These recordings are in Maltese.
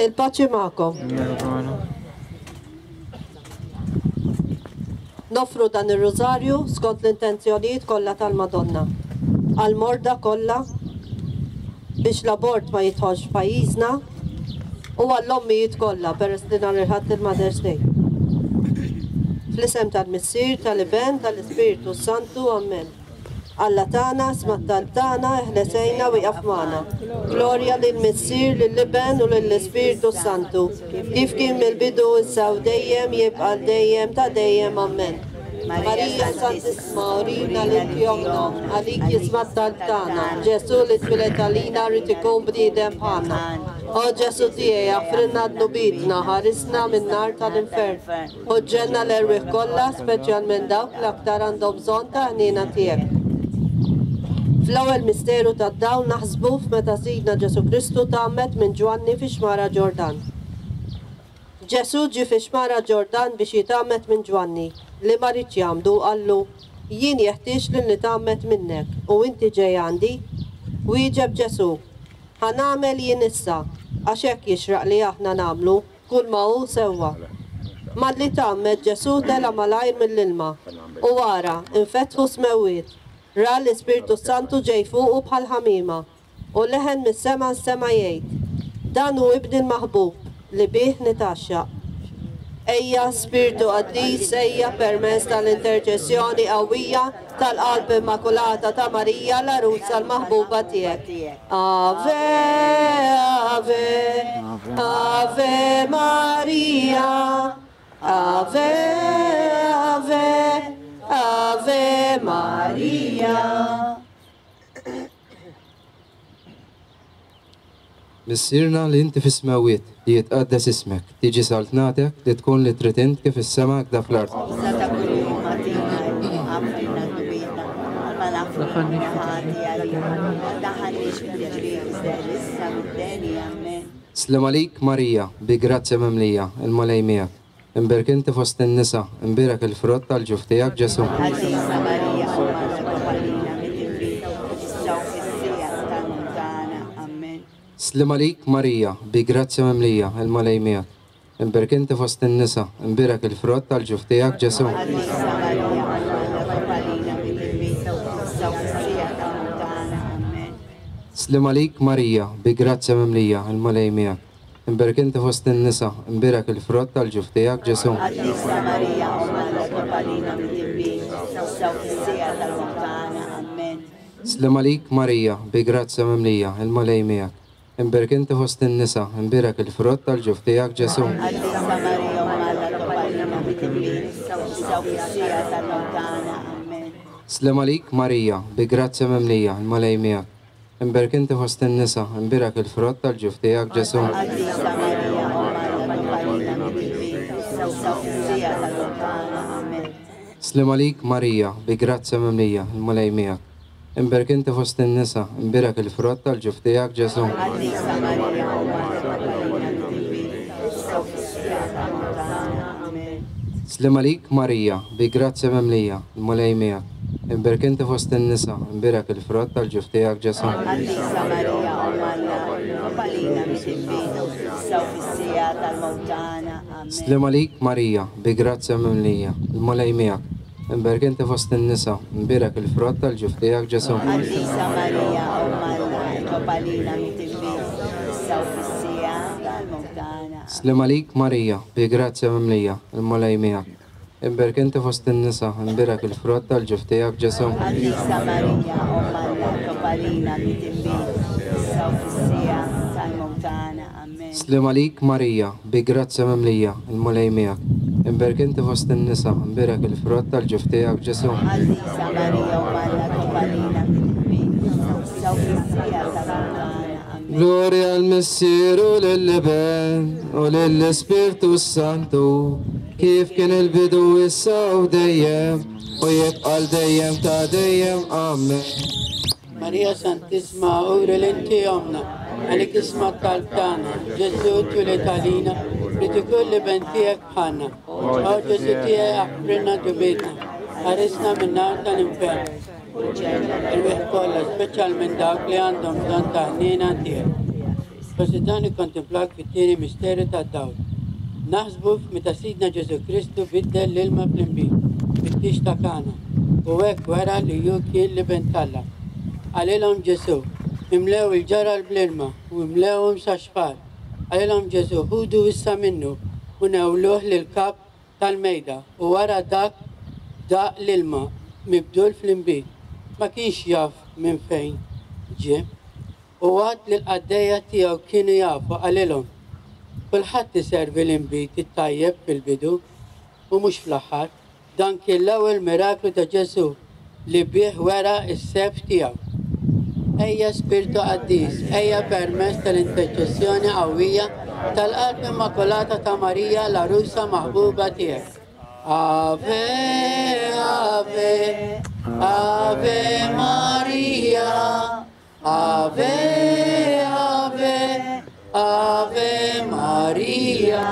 Il-paċi magħkom. Noffru dan ir-rużarju skont l-intenzjonijiet kollha tal-Madonna. Għall-morda kollha biex l-abort ma jidħolx f'pajjiżna u għall-ommijiet kollha peress li nhar il-Ħadd il-Mother's Day. Fl-isem tal-Missier, tal-Iben, tal-Ispirtu s-Santu. Ammen. Alla tagħna, isma' t-talb tagħna, eħles għinna u ieqaf magħna. Glorja lill-Missier, lill-Iben u lill-Ispirtu s-Santu, kif kien mill-bidu, issa u dejjem, jibqa' għal dejjem ta' dejjem. Ammen. Marija Santissima, urina li inti ommna, għalik jisma' t-talb tagħna. Ġesù li twieled għalina ried ikun bniedem bħalna. O Ġesù tiegħi, aħfrilna dnubietna, ħarisna min-nar tal-infern. Ħu ġenna l-erwieħ kollha, speċjalment dawk li aktar għandhom bżonn tal-ħniena tiegħek. Fl-ewwel misteru tad-dawl naħsbu f'meta Sidna Ġesù Kristu tgħammed minn Ġwanni fix-xmara Ġordan. Ġesù ġie fix-xmara Ġordan biex jitgħammed minn Ġwanni, li ma riedx jgħammdu, qallu, Jien jeħtieġ li nitgħammed minnek, u inti ġej għandi? Wieġeb Ġesù, Ħa nagħmel jien issa, għax hekk jixraq li aħna nagħmlu Kulma hu sewwa. Malli tgħammed, Ġesù tela' malajr mill-ilma, u ara, infetħu s-smewwiet, ra l-Ispirtu s-Santu ġej fuqu bħal ħamiema, u leħen mis-sema nstema' jgħid, Dan hu Ibni l-maħbub, li bih nitgħaxxaq. Ejja, Spirtu Qaddis, ejja permezz tal-interċessjoni qawwija tal-Qalb Immakulata ta' Marija, l-Għarusa l-maħbuba tiegħek. Ave, Ave, Ave Maria. Ave, Ave, Ave Maria. Missierna li inti fis-smewwiet, li jitqaddes ismek, tiġi saltnatek, li tkun li trid int kif fis-sema hekda fl-art. Ħobżna ta' kuljum agħtina llum, aħfrilna dnubietna bħalma naħfru aħna ħati għalina, u ma ddaħħalniex fit-tiġrib iżda eħlisna mid-deni. Ammen. Sliem għalik Marija, bi grazzja mimlija, il-Mulej miegħek. Imbierek inti fost in-nisa, imbierek il-frott tal-ġuf tiegħek Ġesù. Qaddisa Marija, Omm Alla, itlob għalina midinbin, issa u fis-siegħa tal-mewt tagħna. Ammen. Sliem għalik Marija, bi grazzja mimlija, il-Mulej miegħek. Imbierek inti fost in-nisa, imbierek il-frott tal-ġuf tiegħek Ġesù. Qaddisa Marija, Omm Alla, itlob għalina midinbin, issa u fis-siegħa tal-mewt tagħna. Ammen. Sliem għalik Marija, bi grazzja mimlija, il-Mulej miegħek. Imbierek inti fost in-nisa, imbierek il-frott tal-ġuf tiegħek, Ġesù. Qaddisa Marija, Omm Alla, itlob għalina midinbin, issa u fis-siegħa tal-mewt tagħna. Ammen. Sliem għalik Marija, bi grazzja mimlija, il-Mulej miegħek. Imbierek inti fost in-nisa, imbierek il-frott tal-ġuf tiegħek, Ġesù. Qaddisa Marija, Omm Alla, itlob għalina midinbin, issa u fis-siegħa tal-mewt tagħna. Ammen. Sliem għalik Marija, bi grazzja mimlija, il-Mulej miegħek. Imbierek inti fost in-nisa, imbierek il-frott tal-ġuf tiegħek, Ġesù. Qaddisa Marija, Omm Alla, itlob għalina midinbin, issa u fis-siegħa tal-mewt tagħna. Ammen. Sliem għalik Marija, bi grazzja mimlija, il-Mulej miegħek. Imbierek inti fost in-nisa, imbierek il-frott tal-ġuf tiegħek, Ġesù. Qaddisa Marija, Omm Alla, itlob għalina midinbin, issa u fis-siegħa tal-mewt tagħna. Ammen. Sliem għalik Marija, bi grazzja mimlija, il-Mulej miegħek. Imbierek inti fost in-nisa, imbierek il-frott tal-ġuf tiegħek, Ġesù. Qaddisa Marija, Omm Alla, itlob għalina midinbin, issa u fis-siegħa tal-mewt tagħna. Ammen. Sliem għalik Marija, bi grazzja mimlija, il-Mulej miegħek. Imbierek inti fost in-nisa, imbierek il-frott tal-ġuf tiegħek, Ġesù. Qaddisa Marija, Omm Alla, itlob għalina midinbin, issa u fis-siegħa tal-mewt tagħna. Ammen. Sliem għalik Marija, bi grazzja mimlija, il-Mulej miegħek. Imbierek inti fost in-nisa, imbierek il-frott tal-ġuf tiegħek, Ġesù. Qaddisa Marija, Omm Alla, itlob għalina midinbin, issa u fis-siegħa tal-mewt tagħna. Ammen. Sliem għalik Marija, bi grazzja mimlija, il-Mulej miegħek. Imbierek inti fost in-nisa, imbierek il-frott tal-ġuf tiegħek, Ġesù. Qaddisa Marija, Omm Alla, itlob għalina midinbin, issa u fis-siegħa tal-mewt tagħna. Ammen. Glorja l-Missier u lill-Iben u lill-Ispirtu s-Santu, kif kien il-bidu issa u dejjem, u jibqa' l dejjem ta' dejjem. Amen. Marija Santissima, uri li inti ommna, għalik isma' t-talb tagħna. Ġesù twieled għalina, ried ikun l-Iben tiegħek bħalna. O Ġesù tiegħi aħfrilna dnubietna, ħarisna min-nar tal-infern. Erwieħ kollha, speċjalment dawk li għandhom bżonn ta' ħniena tiegħek. Forsi dan ikkontemplak fit-tieni misteru tad-dawl. Naħsbu f'meta Sidna Ġesù Kristu biddel l-ilma fl-inbid fit-tieġ ta' Kana u hekk wera li hu kien l-Iben t'Alla. Qalilhom Ġesù, Imlew il-ġarar bl-ilma u imlewhom sax-xfar. Qalilhom Ġesù, Ħudu issa minnu u newluh lill-kap tal-mejda u wara dak daq l-ilma mibdul fl-inbid. Ma kienx jaf minn fejn ġie. U għad li l-qaddejja tiegħu kienu jafu, qalilhom, Kulħadd iservi l-inbid it-tajjeb fil-bidu, u mhux fl-aħħar. Dan kien l-ewwel miraklu ta' Ġesù li bih wera s-sebħ tiegħu. Ejja Spirtu Qaddis, ejja permezz tal-interċessjoni qawwija tal-Qalb Immakulata ta' Marija l-Għarusa maħbuba tiegħek. Ave, Ave, Ave Maria. Ave, Ave, Ave Maria.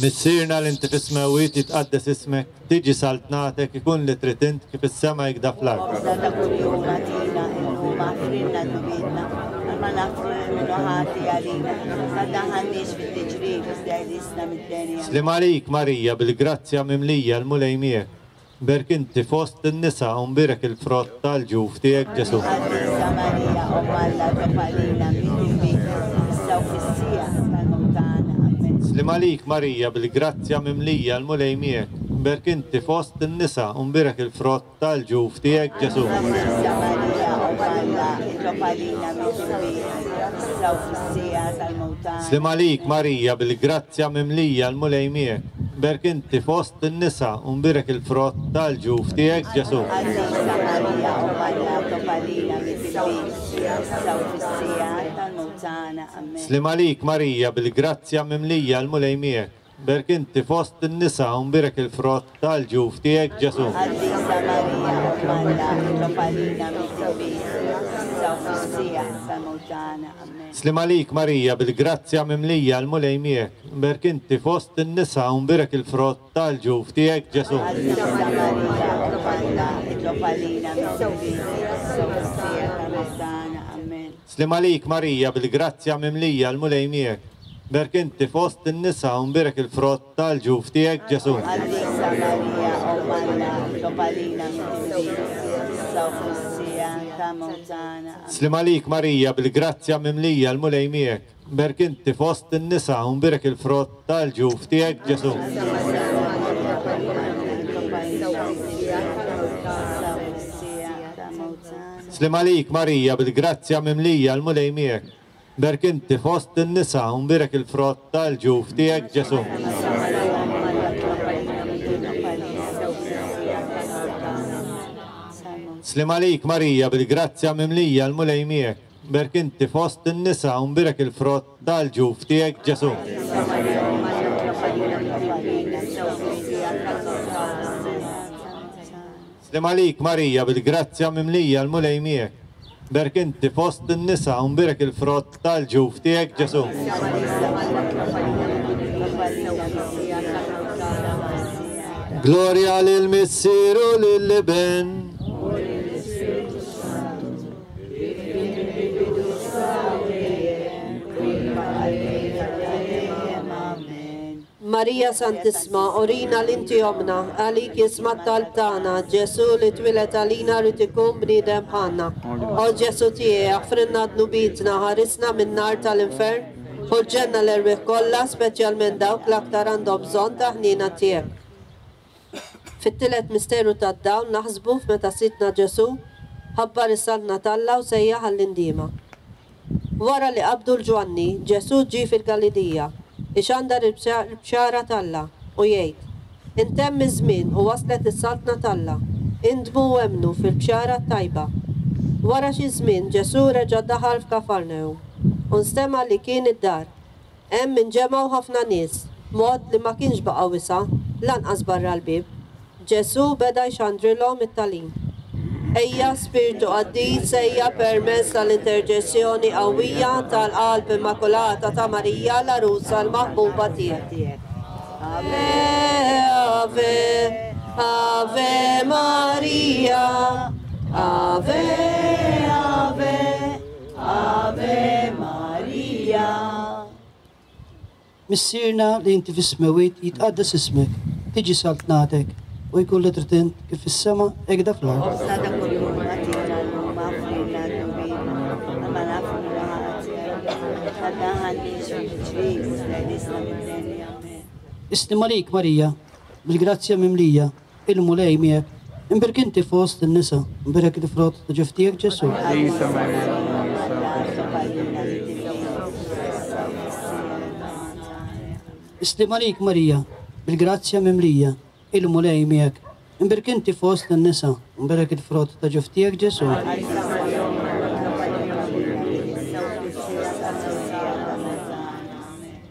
Missierna li inti fis-smewwiet jitqaddes ismek, tiġi saltnatek, ikun li trid int kif is-sema jikda fl-art. Ħobżna ta' kuljum agħtina illum, aħfrilna dnubietna, bħalma naħfru lil min hu ħati għalina. Ma tdaħħalniex fit-tiġrib, iżda eħlisna mid-deni. Sliem għalik Marija, bil-grazzja mimlija, l-Mulej miegħek. Mbierk inti fost in-nisa u mbierek il-frott tal-ġuf tiegħek Ġesù. Qaddisa Marija, Omm Alla, itlob għalina midinbin, issa u fis-siegħa tal-mewt tagħna. Amen. Sliem għalik Marija, bil-grazzja mimlija, l-Mulej miegħek. Mbierk inti fost in-nisa u mbierek il-frott tal-ġuf tiegħek Ġesù. Qaddisa Marija, Omm Alla, itlob għalina midinbin, issa u fis-siegħa tal-mewt tagħna. Sliem għalik Marija, bil-grazzja mimlija, l-Mulej miegħek. Mbierk inti fost in-nisa u mbierek il-frott tal-ġuf tiegħek Ġesù. Qaddisa Marija, Omm Alla, itlob għalina midinbin, issa u fis-siegħa tal-mewt tagħna. Amen. Sliem għalik Marija, bil-grazzja mimlija, l-Mulej miegħek. Mbierk inti fost in-nisa u mbierek il-frott tal-ġuf tiegħek Ġesù. Qaddisa Marija, Omm Alla, itlob għalina midinbin, issa u fis-siegħa tal-mewt tagħna. Amen. Sliem għalik Marija, bil-grazzja mimlija, l-Mulej miegħek. Mbierk inti fost in-nisa u mbierek il-frott tal-ġuf tiegħek Ġesù. Qaddisa Marija, Omm Alla, itlob għalina midinbin, issa u fis-siegħa tal-mewt tagħna. Amen. Sliem għalik Marija, bil-grazzja mimlija, l-Mulej miegħek. Mbierk inti fost in-nisa u mbierek il-frott tal-ġuf tiegħek Ġesù. Qaddisa Marija, Omm Alla, itlob għalina midinbin, issa u fis-siegħa tal-mewt tagħna. Amen. Sliem għalik Marija, bil-grazzja mimlija, l-Mulej miegħek. Mbierk inti fost in-nisa u mbierek il-frott tal-ġuf tiegħek Ġesù. Sliem għalik Marija, bil-grazzja mimlija, l-Mulej miegħek. Mbierk inti fost in-nisa u mbierek il-frott tal-ġuf tiegħek Ġesù. Sliem għalik Marija, bil-grazzja mimlija, l-Mulej miegħek. Mbierk inti fost in-nisa u mbierek il-frott tal-ġuf tiegħek Ġesù. Sliem għalik Marija, bil-grazzja mimlija, l-Mulej miegħek. Mbierk inti fost in-nisa u mbierek il-frott tal-ġuf tiegħek Ġesù. Glorja lil Missier u lill-Iben. Marija Santissma, urina li inti ommna, għalik jisma' t-talb tagħna, Ġesù li twieled għalina rrid ikun bniedem bħalna. O Ġesù tiegħi, aħfrilna dnubietna, ħarisna min-nar tal-infern, u l-ġenna l-erwieħ kollha, speċjalment dawk l-aktar għandhom bżonn ta' ħniena tiegħek. Fit-tielet misteru tad-dawl naħsbu f'meta Sidna Ġesù ħabbar is-Saltna t'Alla u sejjaħ għall-indiema. Wara li qabdu 'l Ġwanni, Ġesù ġie fil-Galilija, ixandar il-bxara t'Alla, u jgħid, Intemm iż-żmien u waslet is-Saltna t'Alla, indmu u emmnu fil-bxara t-tajba. Wara xi żmien Ġesù reġa' daħal f'Kafarnahum, u nstema' li kien id-dar. Hemm inġemgħu ħafna nies, b'mod li ma kienx baqa' wisa', lanqas barra l-bieb. Ġesù beda jxandrilhom it-tagħlim. Ejja, Spirtu Qaddis, ejja permezz tal-interċessjoni qawwija tal-Qalb Immakulata ta' Marija, l-Għarusa l-maħbuba tiegħek. Ave, Ave, Ave Maria. Ave, Ave, Ave Maria. Missierna li inti fis-smewwiet jitqaddes ismek, tiġi saltnatek, u jkun li trid int kif fis-sema hekk fl-art. Ħobżna ta' kuljum agħtina llum, aħfrilna dnubietna, bħalma naħfru lil ħatiegħna. Ma tdaħħalniex fit-tiġrib, iżda eħlisna mid-deni. Amen. Islim għalik Marija, bil-grazzja mimlija, il-Mulej miegħek. Imbierek inti fost in-nisa, imbierek il-frott ta' ġuf tiegħek Ġesù. Qaddisa Marija, Omm Alla, itlob għalina midinbin, issa u fis-siegħa ta' mewtna. Amen. Islim għalik Marija, bil-grazzja mimlija, il-Mulej miegħek. Imbierek inti fost in-nisa, imbierek il-frott ta' ġuf tiegħek Ġesù. Qaddisa Marija, Omm Alla, itlob għalina midinbin, issa u fis-siegħa ta' mewtna. Amen.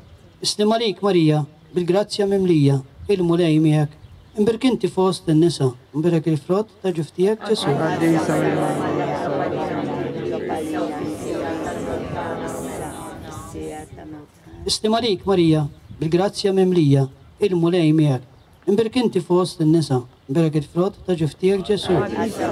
Islim għalik Marija, bil-grazzja mimlija, il-Mulej miegħek. Imbierek inti fost in-nisa, imbierek il-frott ta' ġuf tiegħek Ġesù. Qaddisa Marija, Omm Itlob għalina midinbin, issa u fis-siegħa ta' mewtna. Islim għalik Marija, bil-grazzja mimlija, il-Mulej miegħek. Imbierek inti fost in-nisa, imbierek il-frott ta' ġuf tiegħek Ġesù. Qaddisa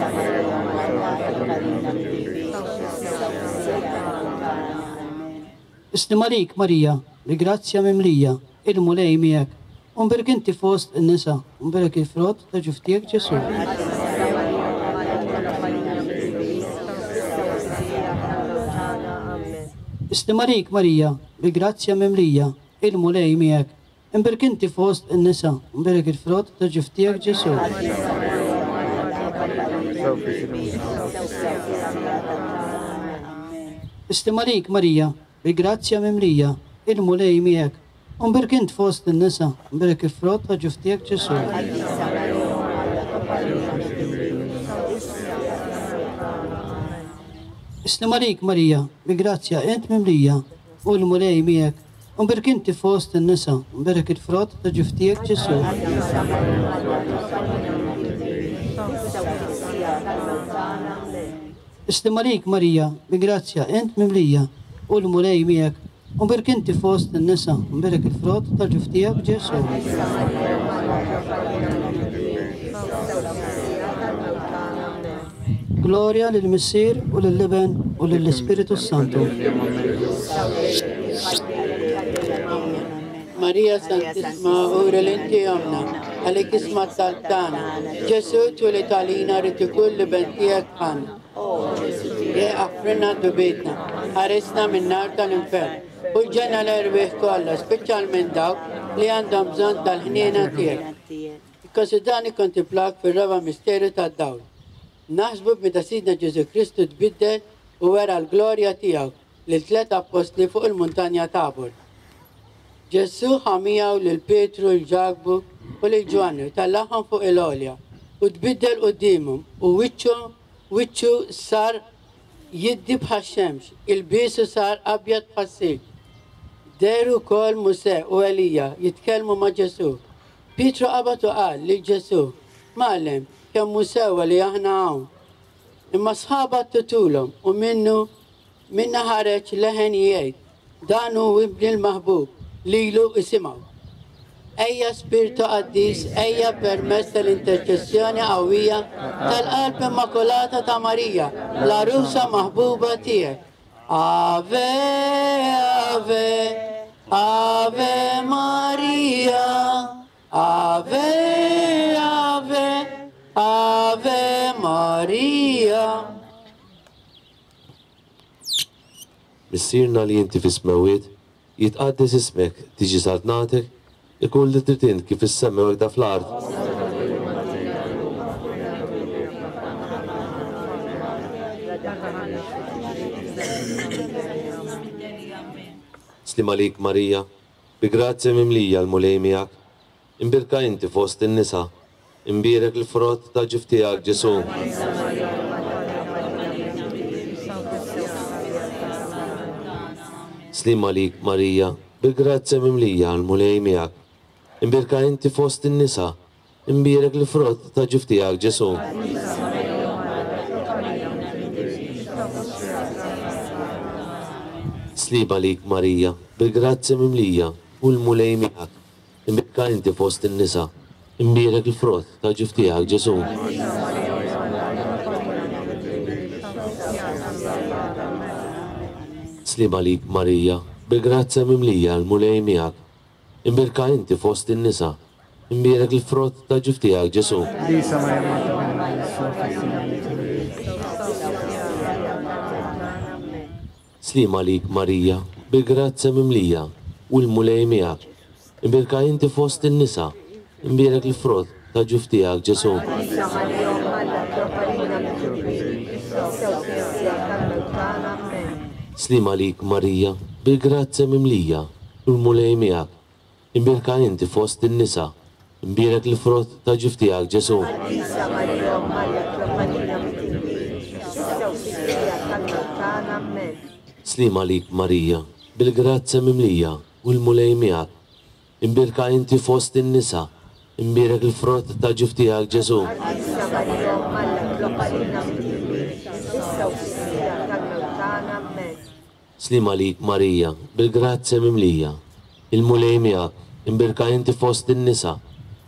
Marija, Omm Alla, itlob għalina midinbin, issa u fis-siegħa ta' mewtna. Amen. Islim għalik Marija, bil-grazzja mimlija, il-Mulej miegħek. Imbierek inti fost in-nisa, imbierek il-frott ta' ġuf tiegħek Ġesù. Qaddisa Marija, Omm Alla, itlob għalina midinbin, issa u fis-siegħa ta' mewtna. Amen. Islim għalik Marija, bil-grazzja mimlija, il-Mulej miegħek. Imbierek inti fost in-nisa, imbierek il-frott ta' ġuf tiegħek Ġesù. Qaddisa Marija, Omm Alla, itlob għalina midinbin, issa u fis-siegħa ta' mewtna. Amen. Islim għalik Marija, bil-grazzja mimlija, il-Mulej miegħek. Imbierek inti fost in-nisa, imbierek il-frott ta' ġuf tiegħek Ġesù. Qaddisa Marija, Omm Alla, itlob għalina midinbin, issa u fis-siegħa ta' mewtna. Amen. Islim għalik Marija, bil-grazzja mimlija, il-Mulej miegħek. Imbierek int fost in-nisa, imbierek il-frott ta' ġuf tiegħek Ġesù. Qaddisa Marija, Omm Alla, itlob għalina midinbin, issa u fis-siegħa ta' mewtna. Islim għalik Marija, bil-grazzja int mimlija, u l-Mulej miegħek. Imbierek inti fost in-nisa, imbierek il-frott ta' ġuf tiegħek Ġesù. Qaddisa Marija, Omm Alla, itlob għalina midinbin, issa u fis-siegħa ta' mewtna. Amen. Islim għalik Marija, bil-grazzja int mimlija, u l-Mulej miegħek. Imbierek inti fost in-nisa, imbierek il-frott ta' ġuf tiegħek Ġesù. Qaddisa Marija, Omm Alla, itlob għalina midinbin, issa u fis-siegħa ta' mewtna. Amen. Glorja lill-Missier u lill-Iben u lill-Ispiritu Santu. Amen. Marija Santissima, ura l-inti omna, għalik isma taltana. Ġesu twelid għalina rrid ikun li ben tiegħek bħalna. Aħfrilna dnubietna, ħarisna min-nar tal-infern. U l-ġenna l-erwieħ kollha, speċjalment dawk li għandhom bżonn tal-ħniena tiegħek. Ikkonsidrani kontemplak fir-raba' misteru tad-dawl. Naħsbu b'meta Sidna Ġesu Kristu tbiddel u wera l-glorja tiegħu lil tliet appostli fuq il-muntanja Tabor. Ġesu ħa miegħu lil Pietru, lil Ġakbu u lil Ġwanni u tellagħhom fuq il-għolja u tbiddel quddiemhom u wiċċu sar jiddi bħax-xemx, ilbiesu sar abjad bħas-silġ. Dehru wkoll Mosè u Elija jitkellmu ma' Ġesu. Pietru qabad u qal lil Ġesu, Mgħallem, kemm hu sewwa li aħna hawn. Imma sħaba ttutulhom u minnu minna ħareġ leħen jgħid, Dan hu ibni l-maħbub, lilu isimgħu. Ejja Spirtu Qaddis, ejja permezz tal-interċessjoni qawwija tal-Qalb Immakulata ta' Marija, l-għarusa maħbuba tiegħek. Ave, Ave, Ave Maria, Ave, Ave, Ave Maria. Missierna li inti fis-smewwiet, jitqaddes ismek, tiġi saltnatek, ikun li trid int kif fis-sema u hekk fl-art. Sliem għalik Marija, bi grazzja mimlija l-Mulej miegħek. Imbierka inti fost in-nisa, imbierek il-frott ta' ġuf tiegħek Ġesu. Sliem għalik Marija, bil-grazzja mimlija l-Mulej miegħek. Imbierka inti fost in-nisa, imbierek il-frott ta' ġuf tiegħek Ġesu. Sliem għalik Marija, bil-grazzja mimlija, u l-Mulej miegħek. Imbierka inti fost in-nisa, imbierek il-frott tal-ġuf tiegħek, Ġesù. Sliem għalik Marija, bil-grazzja mimlija l-Mulej miegħek. Imbierka inti fost in-nisa, imbierek il-frott tal-ġuf tiegħek, Ġesù. Sliem għalik Marija, bil-grazzja mimlija, u l-Mulej miegħek. Imbierka inti fost in-nisa, imbierek il-frott tal-ġuf tiegħek, Ġesù. Qaddisa Marija Omm Alla itlob għalina midinbin, issa u fis-siegħa tal-mewt tagħna. Ammen. Sliem għalik Marija, bil-grazzja mimlija, u l-Mulej miegħek. Imbierka inti fost in-nisa, imbierek il-frott tal-ġuf tiegħek, Ġesù. Qaddisa Marija Omm Alla itlob għalina midinbin, issa u fis-siegħa tal-mewt tagħna. Ammen. Sliem għalik Marija, bil-grazzja mimlija, u l-Mulej miegħek. Imbierka inti fost in-nisa, imbierek il-frott tal-ġuf tiegħek, Ġesù. Qaddisa Marija Omm Alla itlob għalina midinbin, issa u fis-siegħa tal-mewt tagħna. Ammen. Sliem għalik Marija, bil-grazzja mimlija, il-Mulej miegħek, imbierka inti fost in-nisa,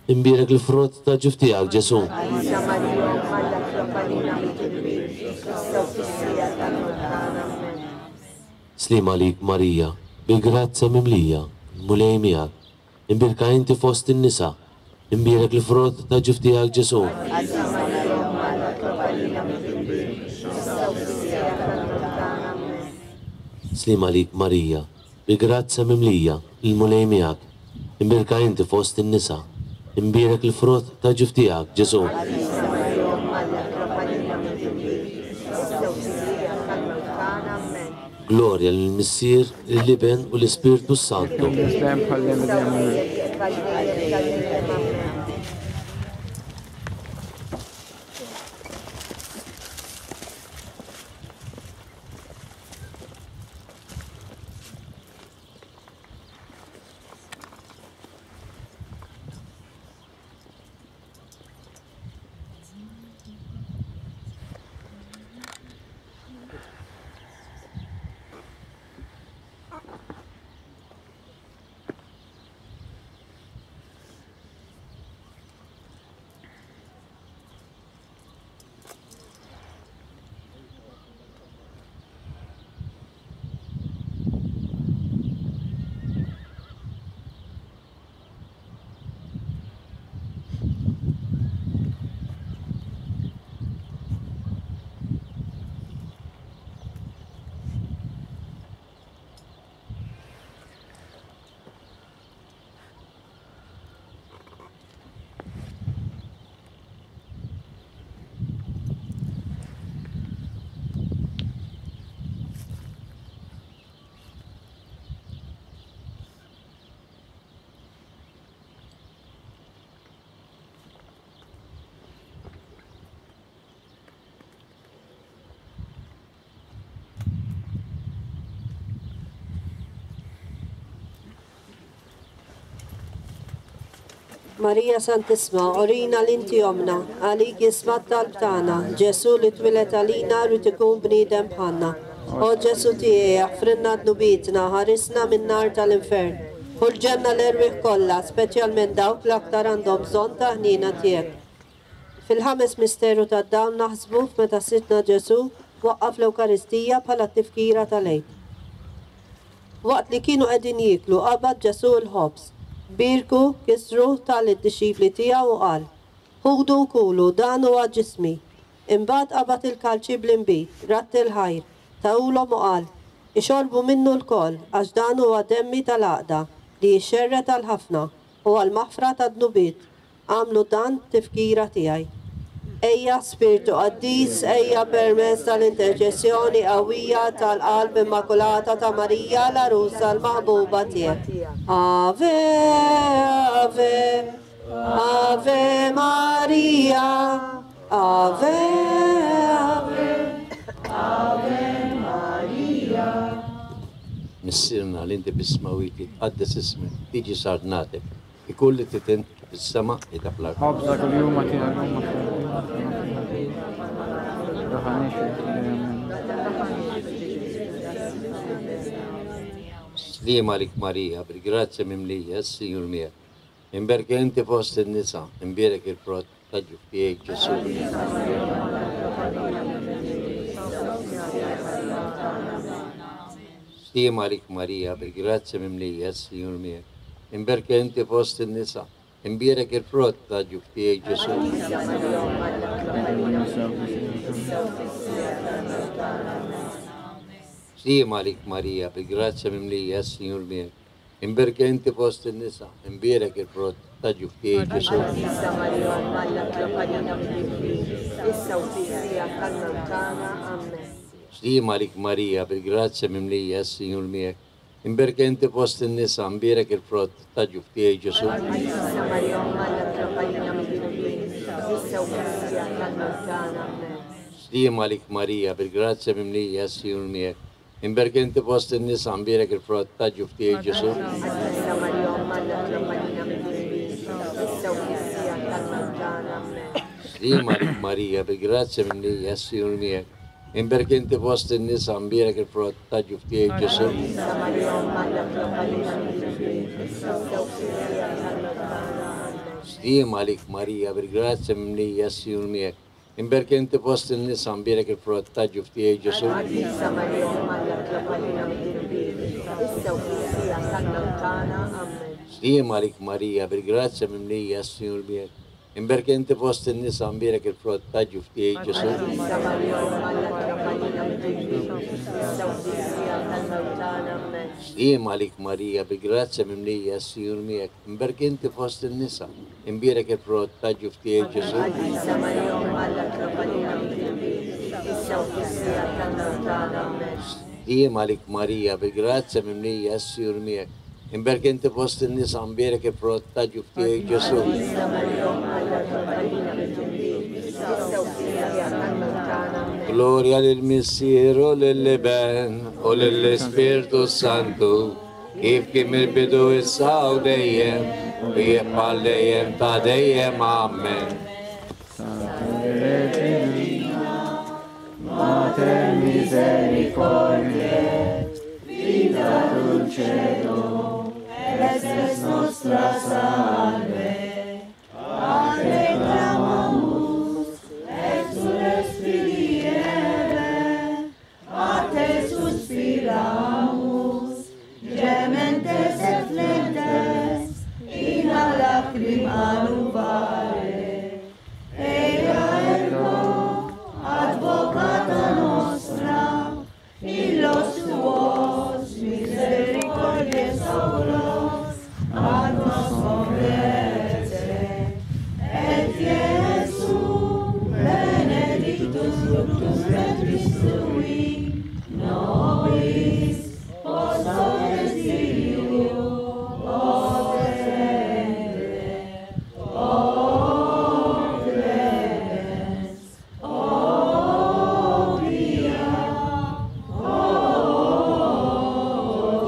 imbierek il-frott tal-ġuf tiegħek, Ġesù. Qaddisa Marija Omm Alla itlob għalina midinbin, issa u fis-siegħa tal-mewt tagħna. Ammen. Sliem għalik Marija, bil-grazzja mimlija, il-Mulej miegħek, imbierka inti fost in-nisa, imbierek il-frott tal-ġuf tiegħek, Ġesù. Qaddisa Marija Omm Alla itlob għalina midinbin, issa u fis-siegħa tal-mewt tagħna. Ammen. Sliem għalik Marija, bil-grazzja mimlija, il-Mulej miegħek, imbierka inti fost in-nisa, imbierek il-frott tal-ġuf tiegħek, Ġesù. Qaddisa Marija Omm Alla itlob għalina midinbin, issa u fis-siegħa tal-mewt tagħna. Ammen. Glorja lill-Missier, lill-Iben u l-Ispirtu Santu. Issa u dejjem jibqa' dejjem ta' dejjem. Ammen. Marija Santissma, urina li inti ommna, għalik jisma' t-talb tagħna, Ġesù li twieled għalina rrid ikun bniedem bħalna. O Ġesù tiegħi, aħfrilna dnubietna, ħarisna min-nar tal-infern. Ħu l-ġenna l-erwieħ kollha, speċjalment dawk l-aktar għandhom bżonn ta' ħniena tiegħek. Fil-ħames misteru tad-dawl naħsbu f'meta Sidna Ġesù waqqaf l-Ewkaristija bħala t-tifkira tal-Għid. Waqt li kienu qegħdin jieklu, qabad Ġesù l-ħobż, bierku, kisru, ta lid-dixxipli tiegħu u qal, Ħudu u kulu, dan huwa ġismi. Imbagħad qabad il-kalċi bl-inbid, radd il-ħajr, tahulhom u qal, Ixorbu minnu lkoll, għax dan huwa demmi tal-għaqda, li jixxerred għal ħafna, u għall-maħfra tad-dnubiet. Agħmlu dan b'tifkira tiegħi. Ejja, Spirtu Qaddis, ejja permezz tal-interċessjoni qawwija tal-Qalb Immakulata ta' Marija l-Għarusa l-Maħbuba tiegħek. Ave, Ave, Ave Maria, Ave, Ave, Ave Maria. Missierna li inti fis-smewwiet jitqaddes ismek, tiġi saltnatek, ikun li trid int kif fis-sema qiegħda fl-art. Ħobżna kuljum agħtina llum aħfir. Sliem għalik Marija, bil-grazzja mimlija, s-Sinjur miegħek. Imberka inti fost in-nisa, imbierek il-frott ta' ġuf tiegħek Ġesù. Sliem għalik Marija, bil-grazzja mimlija, s-Sinjur miegħek. Imberka inti fost in-nisa, imbierek il-frott ta' ġuf tiegħek Ġesù. Sliem għalik Marija, bil-grazzja mimlija, s-Sinjur miegħek. Imberka inti fost in-nisa, imbierek il-frott ta' ġuf tiegħek Ġesù. Qaddisa Marija, Omm Alla, itlob għalina midinbin, issa u fis-siegħa tal-mewt tagħna. Ammen. Sliem għalik Marija, bil-grazzja mimlija, s-Sinjur miegħek. Imberka inti fost in-nisa, imbierek il-frott ta' ġuf tiegħek Ġesù. Qaddisa Marija, Omm Alla, itlob għalina midinbin, issa u fis-siegħa tal-mewt tagħna. Ammen. Sliem għalik Marija, bil-grazzja mimlija, s-Sinjur miegħek. Imberka inti fost in-nisa, imbierek il-frott ta' ġuf tiegħek Ġesù. Qaddisa Marija, Omm Alla, itlob għalina midinbin, issa u fis-siegħa tal-mewt tagħna. Ammen. Sliem għalik Marija, bil-grazzja mimlija, s-Sinjur miegħek. Imberka inti fost in-nisa, imbierek il-frott ta' ġuf tiegħek Ġesù. Qaddisa Marija, Omm Alla, itlob għalina midinbin, issa u fis-siegħa tal-mewt tagħna. Ammen. Sliem għalik Marija, bil-grazzja mimlija, s-Sinjur miegħek. Imberka inti fost in-nisa, imbierek il-frott ta' ġuf tiegħek Ġesù. Qaddisa Marija, Omm Alla, itlob għalina midinbin, issa u fis-siegħa tal-mewt tagħna. Ammen. Sliem għalik Marija, bil-grazzja mimlija, s-Sinjur miegħek. Imberka inti fost in-nisa, imbierek il-frott ta' ġuf tiegħek Ġesù. Qaddisa Marija, Omm Alla, itlob għalina midinbin, issa u fis-siegħa tal-mewt tagħna. Ammen. Sliem għalik Marija, bil-grazzja mimlija, s-Sinjur miegħek. Imberka inti fost in-nisa, imbierek il-frott ta' ġuf tiegħek Ġesù. Qaddisa Marija, Omm Alla, itlob għalina midinbin, issa u fis-siegħa tal-mewt tagħna. Ammen. Sliem għalik Marija, bil-grazzja mimlija, s-Sinjur miegħek. Imberka inti fost in-nisa, imbierek il-frott ta' ġuf tiegħek Ġesù. Qaddisa Marija, Omm Alla, itlob għalina midinbin, issa u fis-siegħa tal-mewt tagħna. Ammen. Gloria lil Missier u lill-Iben u lill-Ispirtu Santu, kif kien mill-bidu issa u dejjem, u jibqa' dejjem ta' dejjem. Amen. Mater misericordiae, vita dulcedo, et nostra salve. A te clamamus, exules filii Evae, a te suspiramus, gementes et flentes, in a lacrima nubare. Ea ergo, advocata nostra, illos tuos misericordias oculos ad nos converte. Et Iesu benedictus fructus ventris tui, nobis post hoc exilium ostende. O clemens, o pia, o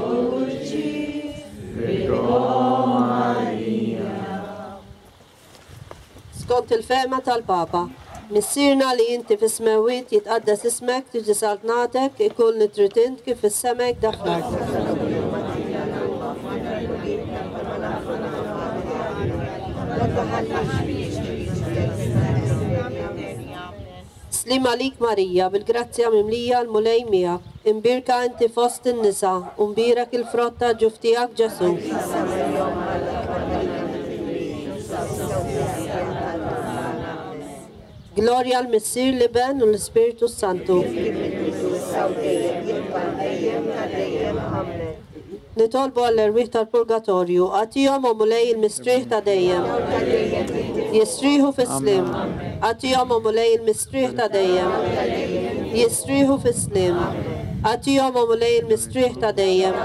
dulcis Virgo Maria. Skont il-fehma tal-Papa, Missierna li inti fis-smewwiet jitqaddes ismek, tiġi saltnatek, ikun li trid int kif fis-sema hekk fl-art. Sliem għalik Marija, bil-grazzja mimlija l-Mulej miegħek, imbierka inti fost in-nisa, u mbierek il-frott ta' ġuf tiegħek Ġesù. Glorja l-Missier, l-Iben u l-Ispirtu Santu. Nitolbu għall-erwieħ tal-purgatorju, agħtihom o Mulej il-mistrieħ ta' dejjem. Jistrieħu fis-sliem. Agħtihom o Mulej il-mistrieħ ta' dejjem. Jistrieħu fis-sliem. Agħtihom o Mulej il-mistrieħ ta' dejjem.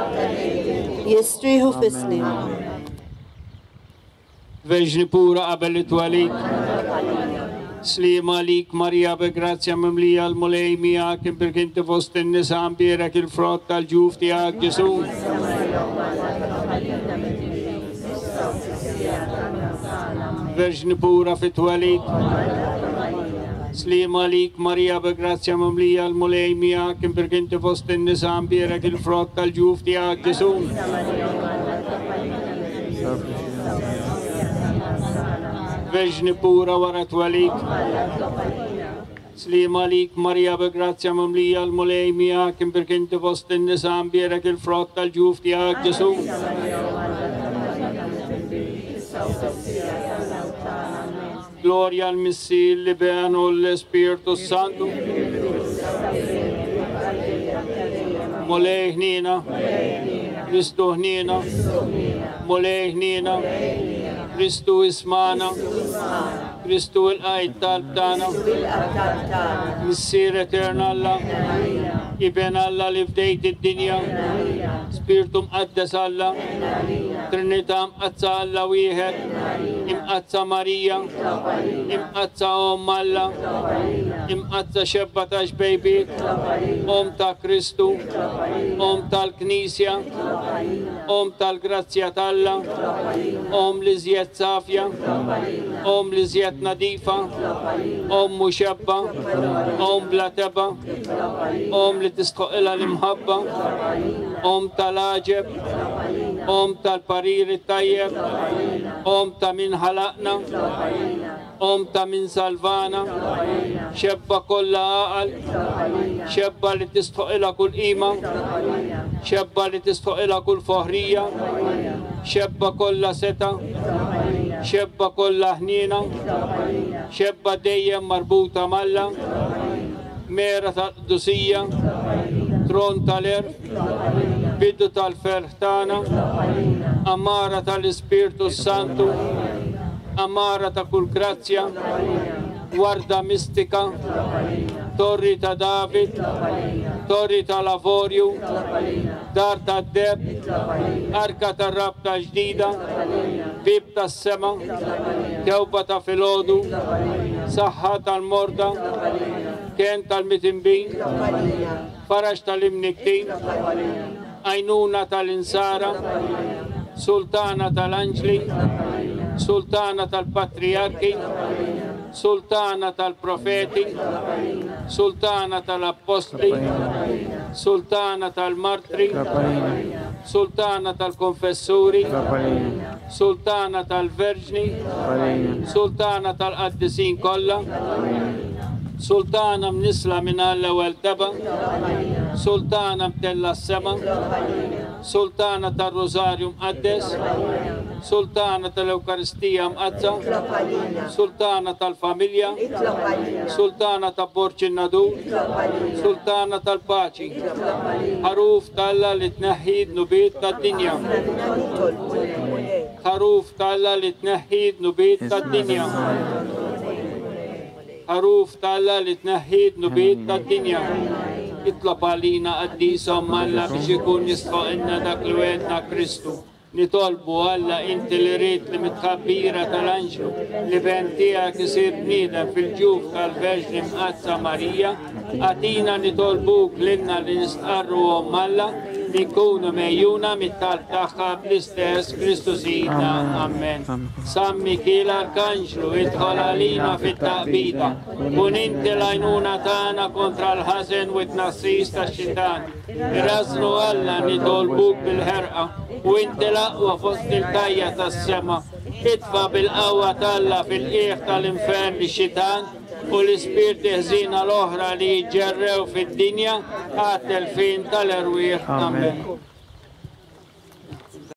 Jistrieħu fis-sliem. Verġni pura qabel it-twelid. Sliem għalik Marija bi grazzja mimlija l-Mulej miegħek, imbierka inti fost in-nisa, mbierek il-frott tal-ġuf tiegħek Ġesù. Verġni pura fit-twelid. Sliema għalik Marija bi grazzja mimlija l-Mulej miegħek imbierek inti fost in-nisa mbierek il-frott tal-ġuf tiegħek Ġesù. Verġni pura wara twelid. Sliema għalik Marija bi grazzja mimlija l-Mulej miegħek imbierek inti fost in-nisa mbierek il-frott tal-ġuf tiegħek Ġesù. Glorja l-Missier, l-Iben u l-Ispirtu Santu. Mulej ħniena, Kristu ħniena, Mulej ħniena, Kristu ismana, Kristu il-qajt talb tagħna, Missier Etern Alla, Iben Alla li fdejt id-dinja, Spirtu Mqaddes Alla, Trinità Mqaddsa Alla wieħed, Imqaddsa Marija, Imqaddsa Omm Alla, Imqaddsa Xebba ta' Xbejbiet, Omm ta' Kristu, Omm tal-Knisja, Omm tal-grazzja t'Alla, Omm l-iżjed safja, Omm l-iżjed nadifa, Omm muxebba, Omm bla tebgħa, Omm li tistħoqilha l-imħabba, Omm tal-għaġeb, Omm tal-parir it-tajjeb, Omm ta' min ħalaqna, Omm ta' min salvana, xebba kollha għaqal, xebba li tistħoqilha kull qima, xebba li tistħoqilha kull foħrija, xebba kollha setgħa, xebba kollha ħniena, xebba dejjem marbuta m'Alla, mera tal-qdusija, tron tal-għerf, bidu tal-ferħ tagħna, għamara tal-Ispirtu s-Santu, għamara ta' kull grazzja, warda mistika, torri ta' David, torri tal-avorju, dar tad-deheb, arka tar-rabta ġdida, bieb tas-sema, tewba ta' filgħodu, saħħa tal-morda, kenn tal-mitinbin, faraġ tal-imnikktin, għajnuna tal-insara, sultana tal-anġli, sultana tal-patrijarki, sultana tal-profeti, sultana tal-appostli, sultana tal-martri, sultana tal-konfessuri, sultana tal-verġni, sultana tal-qaddisin kollha, sultana mnissla mingħajr l-ewwel tebgħa, sultana mtella s-sema, sultana tar-Rużarju Mqaddes, sultana tal-Ewkaristija Mqaddsa, sultana tal-familja, sultana ta' Borġ in-Nadur, sultana tal-paċi, ħaruf t'Alla li tneħħi d-dnubiet tad-dinja. Ħaruf t'Alla li tneħħi d-dnubiet tad-dinja. Ħaruf t'Alla li tneħħi d-dnubiet tad-dinja. Itlob għalina qaddisa Omm Alla biex ikun jistħoqilna dak li wegħedna Kristu. Nitolbu Alla inti li ridt li mit-tħabbira tal-anġlu l-Iben tiegħek isir bniedem fil-ġuf tal-Verġni Mqaddsa Marija, agħtina nitolbuk lilna li nistqarru Omm Alla li nkunu megħjuna mit-talb tagħha bl-istess Kristu Sidna. Amen. San Mikiel Arkanġlu, idħol għalina fit-taqbida. Kun inti l-għajnuna tagħna kontra l-ħażen u t-tnassis tax-xitan. Irażżnu Alla nitolbuk bil-ħerqa, u inti l-aqwa fost il-tajja tas-sema. Itfa' bil-qawwa t'Alla fil-qiegħ tal-infern lix-xitan u l-ispirti ħżiena l-oħra li jiġġerrew fid-dinja għat-telfien tal-erwieħ. Amen.